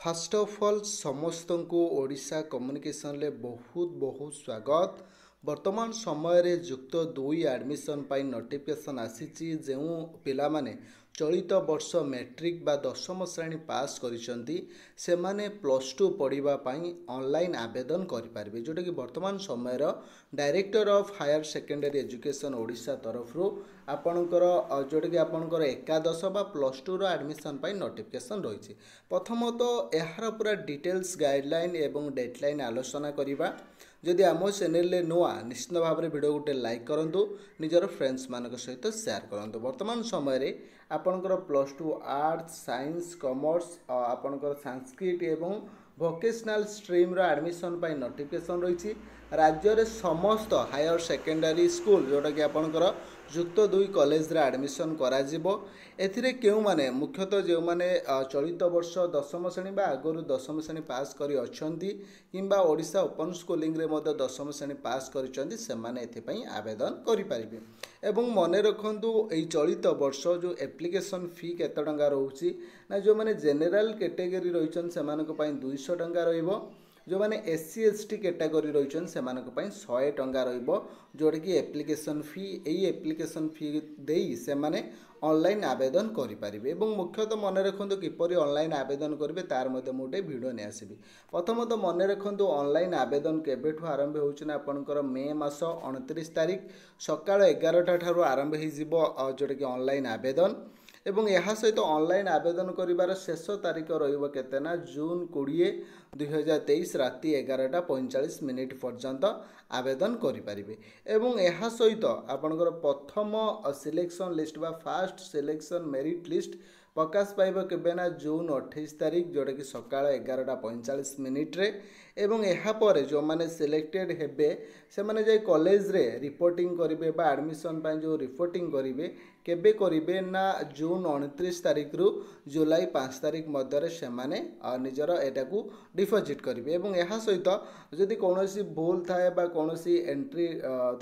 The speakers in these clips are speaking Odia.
ଫାଷ୍ଟ ଅଫ୍ ଅଲ୍ ସମସ୍ତଙ୍କୁ ଓଡ଼ିଶା କମ୍ୟୁନିକେସନରେ ବହୁତ ବହୁତ ସ୍ୱାଗତ। ବର୍ତ୍ତମାନ ସମୟରେ ଯୁକ୍ତ ଦୁଇ ଆଡ଼ମିସନ୍ ପାଇଁ ନୋଟିଫିକେସନ୍ ଆସିଛି। ଯେଉଁ ପିଲାମାନେ ଚଳିତ ବର୍ଷ ମେଟ୍ରିକ୍ ବା ଦଶମ ଶ୍ରେଣୀ ପାସ୍ କରିଛନ୍ତି, ସେମାନେ ପ୍ଲସ୍ ଟୁ ପଢ଼ିବା ପାଇଁ ଅନଲାଇନ୍ ଆବେଦନ କରିପାରିବେ, ଯେଉଁଟାକି ବର୍ତ୍ତମାନ ସମୟର Director of Higher Secondary Education Odisha ତରଫରୁ ଆପଣଙ୍କର ଯେଉଁଟାକି ଆପଣଙ୍କର ଏକାଦଶ ବା ପ୍ଲସ୍ ଟୁର ଆଡ଼ମିସନ୍ ପାଇଁ ନୋଟିଫିକେସନ୍ ରହିଛି। ପ୍ରଥମତଃ ଏହାର ପୁରା ଡିଟେଲ୍ସ, ଗାଇଡ଼ଲାଇନ୍ ଏବଂ ଡେଡ଼ଲାଇନ୍ ଆଲୋଚନା କରିବା। ଯଦି ଆମ ଚ୍ୟାନେଲରେ ନୂଆ, ନିଶ୍ଚିତ ଭାବରେ ଭିଡ଼ିଓ ଗୋଟେ ଲାଇକ୍ କରନ୍ତୁ, ନିଜର ଫ୍ରେଣ୍ଡସ୍ମାନଙ୍କ ସହିତ ସେୟାର କରନ୍ତୁ। ବର୍ତ୍ତମାନ ସମୟରେ ଆପଣଙ୍କର plus two arts, science, commerce, ଆପଣଙ୍କର ସାଂସ୍କ୍ରିଟ ଏବଂ ଭୋକେସନାଲ୍ ଷ୍ଟ୍ରିମ୍ର ଆଡ଼ମିସନ୍ ପାଇଁ ନୋଟିଫିକେସନ୍ ରହିଛି। ରାଜ୍ୟରେ ସମସ୍ତ ହାୟର ସେକେଣ୍ଡାରୀ ସ୍କୁଲ, ଯେଉଁଟାକି ଆପଣଙ୍କର ଯୁକ୍ତ ଦୁଇ କଲେଜରେ ଆଡ଼ମିସନ୍ କରାଯିବ। ଏଥିରେ କେଉଁମାନେ, ମୁଖ୍ୟତଃ ଯେଉଁମାନେ ଚଳିତ ବର୍ଷ ଦଶମ ଶ୍ରେଣୀ ବା ଆଗରୁ ଦଶମ ଶ୍ରେଣୀ ପାସ୍ କରି ଅଛନ୍ତି କିମ୍ବା ଓଡ଼ିଶା ଓପନ୍ ସ୍କୁଲିଂରେ ମଧ୍ୟ ଦଶମ ଶ୍ରେଣୀ ପାସ୍ କରିଛନ୍ତି, ସେମାନେ ଏଥିପାଇଁ ଆବେଦନ କରିପାରିବେ। ଏବଂ ମନେ ରଖନ୍ତୁ, ଏଇ ଚଳିତ ବର୍ଷ ଯେଉଁ ଆପ୍ଲିକେସନ୍ ଫି କେତେ ଟଙ୍କା ରହୁଛି ନା, ଯେଉଁମାନେ ଜେନେରାଲ କ୍ୟାଟେଗୋରୀ ରହିଛନ୍ତି ସେମାନଙ୍କ ପାଇଁ 200 ଟଙ୍କା ରହିବ। ଯେଉଁମାନେ S C, S T category ରହିଛନ୍ତି ସେମାନଙ୍କ ପାଇଁ 100 ଟଙ୍କା ରହିବ, ଯେଉଁଟାକି ଆପ୍ଲିକେସନ୍ ଫି। ଏଇ ଆପ୍ଲିକେସନ୍ ଫି ଦେଇ ସେମାନେ ଅନଲାଇନ୍ ଆବେଦନ କରିପାରିବେ। ଏବଂ ମୁଖ୍ୟତଃ ମନେ ରଖନ୍ତୁ, କିପରି ଅନଲାଇନ୍ ଆବେଦନ କରିବେ ତାର ମଧ୍ୟ ମୁଁ ଗୋଟେ ଭିଡ଼ିଓ ନେଇ ଆସିବି। ପ୍ରଥମତଃ ମନେ ରଖନ୍ତୁ, ଅନଲାଇନ୍ ଆବେଦନ କେବେଠୁ ଆରମ୍ଭ ହେଉଛି ନା, ଆପଣଙ୍କର ମେ ମାସ 29 ତାରିଖ ସକାଳ 11ଟା ଠାରୁ ଆରମ୍ଭ ହେଇଯିବ, ଯେଉଁଟାକି ଅନଲାଇନ୍ ଆବେଦନ। ଏବଂ ଏହା ସହିତ ଅନଲାଇନ୍ ଆବେଦନ କରିବାର ଶେଷ ତାରିଖ ରହିବ କେତେ ନା, ଜୁନ୍ 20 2023 ରାତି 11ଟା 45 ମିନିଟ୍ ପର୍ଯ୍ୟନ୍ତ ଆବେଦନ କରିପାରିବେ। ଏବଂ ଏହା ସହିତ ଆପଣଙ୍କର ପ୍ରଥମ ସିଲେକ୍ସନ୍ ଲିଷ୍ଟ ବା ଫାଷ୍ଟ ସିଲେକ୍ସନ୍ ମେରିଟ୍ ଲିଷ୍ଟ ପ୍ରକାଶ ପାଇବ କେବେ ନା, ଜୁନ୍ 28 ତାରିଖ, ଯେଉଁଟାକି ସକାଳ 11ଟା 45 ମିନିଟ୍ରେ। ଏବଂ ଏହାପରେ ଯେଉଁମାନେ ସିଲେକ୍ଟେଡ଼ ହେବେ, ସେମାନେ ଯାଇ କଲେଜରେ ରିପୋର୍ଟିଂ କରିବେ ବା ଆଡ଼ମିସନ୍ ପାଇଁ ଯେଉଁ ରିପୋର୍ଟିଂ କରିବେ, କେବେ କରିବେ ନା, ଜୁନ୍ 29 ତାରିଖରୁ ଜୁଲାଇ 5 ତାରିଖ ମଧ୍ୟରେ ସେମାନେ ନିଜର ଏଟାକୁ ଡିପୋଜିଟ୍ କରିବେ। ଏବଂ ଏହା ସହିତ ଯଦି କୌଣସି ଭୁଲ ଥାଏ ବା କୌଣସି ଏଣ୍ଟ୍ରି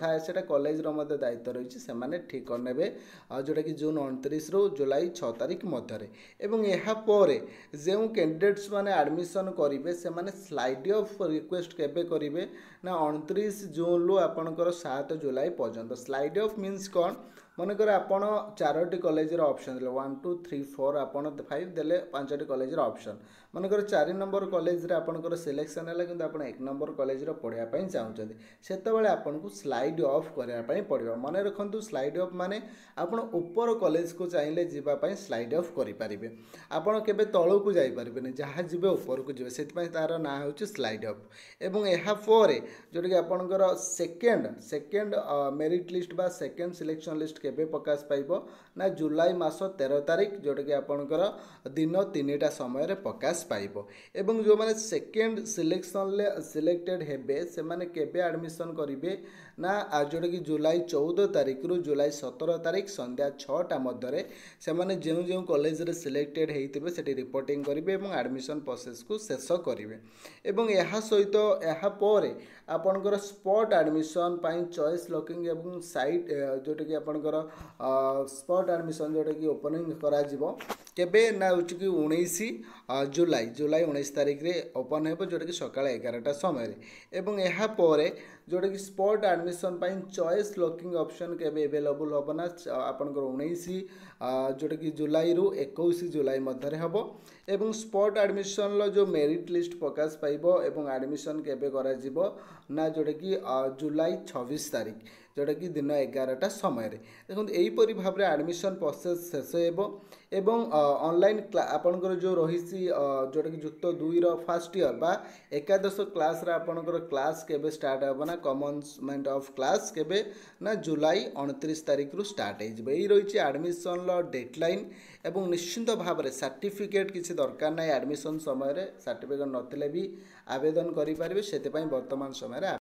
ଥାଏ, ସେଇଟା କଲେଜର ମଧ୍ୟ ଦାୟିତ୍ୱ ରହିଛି, ସେମାନେ ଠିକ୍ କରିନେବେ, ଯେଉଁଟାକି ଜୁନ୍ 29ରୁ ଜୁଲାଇ 6 ତାରିଖ ମଧ୍ୟରେ। ଏବଂ ଏହାପରେ ଯେଉଁ କ୍ୟାଣ୍ଡିଡେଟ୍ସ ମାନେ ଆଡ଼ମିସନ୍ କରିବେ, ସେମାନେ ସ୍ଲାଇଡ୍ ଅଫ୍ ରିକ୍ୱେଷ୍ଟ କେବେ କରିବେ ନା, 29 ଜୁନ୍ରୁ ଆପଣଙ୍କର 7 ଜୁଲାଇ ପର୍ଯ୍ୟନ୍ତ। ସ୍ଲାଇଡ୍ ଅଫ୍ ମିନ୍ସ କ'ଣ? ମନେକର ଆପଣ ଚାରୋଟି କଲେଜର ଅପସନ୍ ଦେଲେ, 1, 2, 3, 4, ଆପଣ 5 ଦେଲେ, ପାଞ୍ଚଟି କଲେଜର ଅପସନ୍। ମନେକର 4 ନମ୍ବର କଲେଜରେ ଆପଣଙ୍କର ସିଲେକ୍ସନ୍ ହେଲା, କିନ୍ତୁ ଆପଣ 1 ନମ୍ବର କଲେଜରେ ପଢ଼ିବା ପାଇଁ ଚାହୁଁଛନ୍ତି, ସେତେବେଳେ ଆପଣଙ୍କୁ ସ୍ଲାଇଡ୍ ଅଫ୍ କରିବା ପାଇଁ ପଡ଼ିବ। ମନେ ରଖନ୍ତୁ, ସ୍ଲାଇଡ୍ ଅଫ୍ ମାନେ ଆପଣ ଉପର କଲେଜକୁ ଚାହିଁଲେ ଯିବା ପାଇଁ ସ୍ଲାଇଡ୍ ଅଫ୍ କରିପାରିବେ। ଆପଣ କେବେ ତଳକୁ ଯାଇପାରିବେନି, ଯାହା ଯିବେ ଉପରକୁ ଯିବେ। ସେଥିପାଇଁ ତା'ର ନାଁ ହେଉଛି ସ୍ଲାଇଡ୍ ଅଫ୍। ଏବଂ ଏହାପରେ ଯେଉଁଟାକି ଆପଣଙ୍କର ସେକେଣ୍ଡ ମେରିଟ୍ ଲିଷ୍ଟ ବା ସେକେଣ୍ଡ ସିଲେକ୍ସନ୍ ଲିଷ୍ଟ କେବେ ପ୍ରକାଶ ପାଇବ ନା, ଜୁଲାଇ ମାସ 13 ତାରିଖ, ଯେଉଁଟାକି ଆପଣଙ୍କର ଦିନ 3ଟା ସମୟରେ ପ୍ରକାଶ ପାଇବ। ଏବଂ ଯେଉଁମାନେ ସେକେଣ୍ଡ ସିଲେକ୍ସନ୍ରେ ସିଲେକ୍ଟେଡ଼ ହେବେ, ସେମାନେ କେବେ ଆଡ଼ମିସନ୍ କରିବେ ନା, ଯେଉଁଟାକି ଜୁଲାଇ 14 ତାରିଖରୁ ଜୁଲାଇ 17 ତାରିଖ ସନ୍ଧ୍ୟା 6ଟା ମଧ୍ୟରେ ସେମାନେ ଯେଉଁ ଯେଉଁ କଲେଜରେ ସିଲେକ୍ଟେଡ଼ ହେଇଥିବେ ସେଠି ରିପୋର୍ଟିଂ କରିବେ ଏବଂ ଆଡ଼ମିସନ୍ ପ୍ରୋସେସ୍କୁ ଶେଷ କରିବେ। ଏବଂ ଏହା ସହିତ ଏହାପରେ ଆପଣଙ୍କର ସ୍ପଟ୍ ଆଡ଼ମିସନ୍ ପାଇଁ ଚଏସ୍ ଲକିଂ ଏବଂ ସାଇଟ୍, ଯେଉଁଟାକି ଆପଣଙ୍କର ସ୍ପଟ୍ ଆଡ଼ମିସନ୍ ଯେଉଁଟାକି ଓପନିଂ କରାଯିବ କେବେ ନା, ହେଉଛି କି 19 ଜୁଲାଇ, ଜୁଲାଇ 19 ତାରିଖରେ ଓପନ୍ ହେବ, ଯେଉଁଟାକି ସକାଳ 11ଟା ସମୟରେ। ଏବଂ ଏହାପରେ ଯେଉଁଟାକି ସ୍ପଟ୍ ଆଡ଼ମିସନ୍ ପାଇଁ ଚଏସ୍ ଲକିଂ ଅପସନ୍ କେବେ ଏଭେଲେବୁଲ୍ ହେବ ନା, ଆପଣଙ୍କର 19 ଯେଉଁଟାକି ଜୁଲାଇରୁ 21 ଜୁଲାଇ ମଧ୍ୟରେ ହେବ। ଏବଂ ସ୍ପଟ୍ ଆଡ଼ମିସନ୍ର ଯେଉଁ ମେରିଟ୍ ଲିଷ୍ଟ ପ୍ରକାଶ ପାଇବ ଏବଂ ଆଡ଼ମିସନ୍ କେବେ କରାଯିବ ନା, ଯେଉଁଟାକି ଜୁଲାଇ 26 ତାରିଖ, ଯେଉଁଟାକି ଦିନ 11ଟା ସମୟରେ। ଦେଖନ୍ତୁ, ଏହିପରି ଭାବରେ ଆଡ଼ମିସନ୍ ପ୍ରୋସେସ୍ ଶେଷ ହେବ। ଏବଂ ଅନଲାଇନ୍ ଆପଣଙ୍କର ଯେଉଁ ରହିଛି, ଯେଉଁଟାକି ଯୁକ୍ତ ଦୁଇର ଫାର୍ଷ୍ଟ ଇୟର୍ ବା ଏକାଦଶ କ୍ଲାସ୍ରେ ଆପଣଙ୍କର କ୍ଲାସ୍ କେବେ ଷ୍ଟାର୍ଟ ହେବ ନା, କମେନ୍ସମେଣ୍ଟ ଅଫ୍ କ୍ଲାସ୍ କେବେ ନା, ଜୁଲାଇ 29 ତାରିଖରୁ ଷ୍ଟାର୍ଟ ହେଇଯିବ। ଏଇ ରହିଛି ଆଡ଼ମିସନ୍ର ଡେଡ଼ଲାଇନ୍। ଏବଂ ନିଶ୍ଚିନ୍ତ ଭାବରେ ସାର୍ଟିଫିକେଟ୍ କିଛି ଦରକାର ନାହିଁ। ଆଡ଼ମିସନ୍ ସମୟରେ ସାର୍ଟିଫିକେଟ୍ ନଥିଲେ ବି ଆବେଦନ କରିପାରିବେ। ସେଥିପାଇଁ ବର୍ତ୍ତମାନ ସମୟରେ